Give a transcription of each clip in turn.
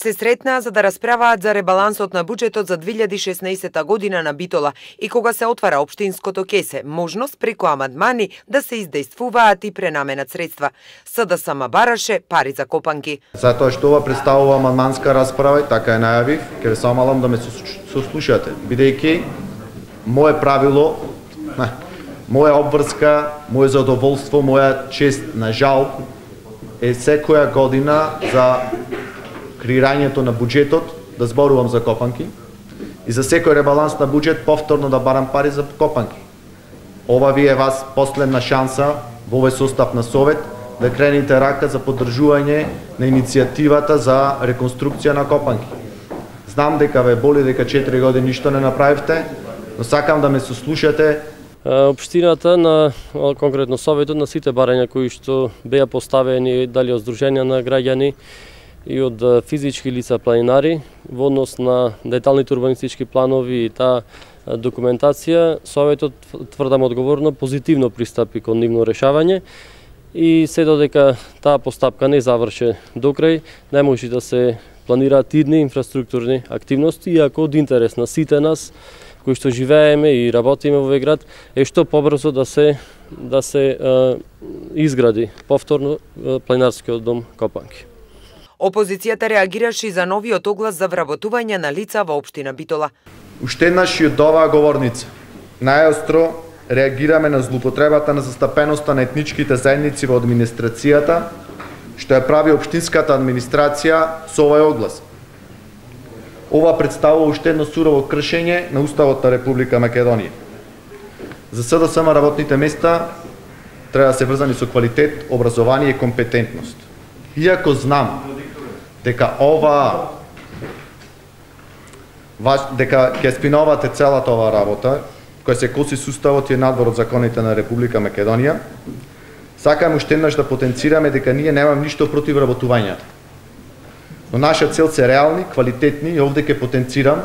се сретнаа за да расправаат за ребалансот на буџетот за 2016 година на Битола и кога се отвара општинското кесе, можност преку амандмани да се издействуваат и пренаменат средства. СДСМ бараше пари за копанки. Затоа што ова представува амандманска расправа и така е најавив, ќе ве самалам да ме сослушате, бидејќи мое правило, моја обврска, моје задоволство, моја чест на жал е секоја година за креирањето на буџетот да зборувам за копанки и за секој ребаланс на буџет повторно да барам пари за копанки. Ова ви е вас последна шанса во овој состав на Совет да кренете рака за поддржување на иницијативата за реконструкција на копанки. Знам дека ве боли дека 4 години ништо не направивте, но сакам да ме сослушате. Општината на конкретно Советот на сите барања кои што беа поставени дали од здруженија на граѓани и од физички лица планинари во однос на деталните урбанистички планови и таа документација, Советот тврдам одговорно позитивно пристапи кон нивно решавање и се додека таа постапка не заврше докрај, не може да се планираат идни инфраструктурни активности, иако од интерес на сите нас кои што живееме и работиме во овој град е што побрзо да се изгради повторно планинарскиот дом Копанки. Опозицијата реагираше и за новиот оглас за вработување на лица во општина Битола. Уште еднаш и од оваа говорница најостро реагираме на злоупотребата на застапеноста на етничките заедници во администрацијата, што ја прави општинската администрација со овој оглас. Ова представува уште едно сурово кршење на Уставот на Република Македонија. За СДСМ работните места треба да се врзани со квалитет, образование и компетентност. Иако знам дека дека ќе спиновате целата оваа работа, која се коси с Уставот и надвор од законите на Република Македонија, сакам уште еднаш да потенцираме дека ние немам ништо против работувањата. Но наша цел се реални, квалитетни и овде ќе потенцирам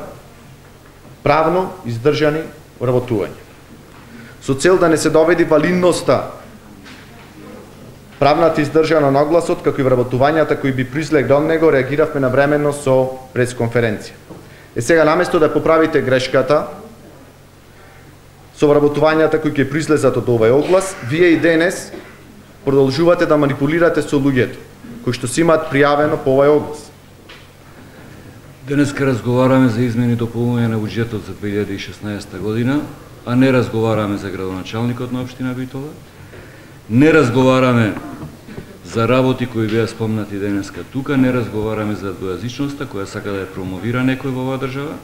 правно издржани работувања. Со цел да не се доведи валидноста правната издржана на огласот, како и вработувањата кои би произлегле од него, реагиравме навремено со пресконференција. Сега наместо да поправите грешката со вработувањата кои ќе произлезат од овој оглас, вие и денес продолжувате да манипулирате со луѓето кои што си имаат пријавено по овој оглас. Денеска разговараме за измени и дополнување на буџетот за 2016 година, а не разговараме за градоначалникот на општина Битола. Не разговараме за работи кои беа спомнати денеска тука, не разговараме за двојазичноста која сака да ја промовира некој во оваа држава.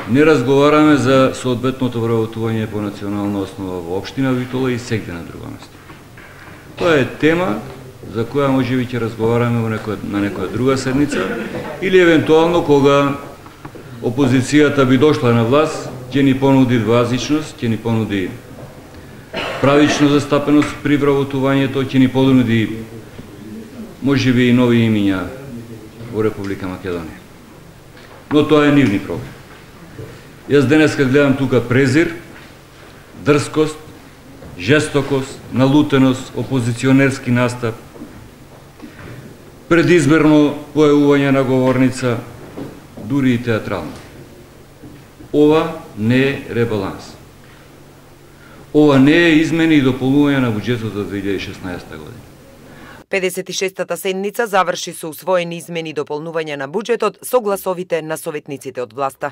Не разговараме за соодветното вработување по национална основа во општина Битола и сегде на друго место. Тоа е тема за која можеби ќе разговараме на некоја друга седница или евентуално кога опозицијата би дошла на власт, ќе ни понуди двојазичност, ќе ни понуди правично застапеност при вработувањето, ќе ни понуди можеби и нови имиња во Република Македонија. Но тоа е нивни проблем. Јас денеска гледам тука презир, дрскост, жестокост, налутеност, опозиционерски настап, предизборно појавување на говорница, дури и театрално. Ова не е ребаланс. Ова не е измени и дополнување на буџетот за 2016 година. 56-та седница заврши со усвоени измени и дополнување на буџетот со гласовите на советниците од власта.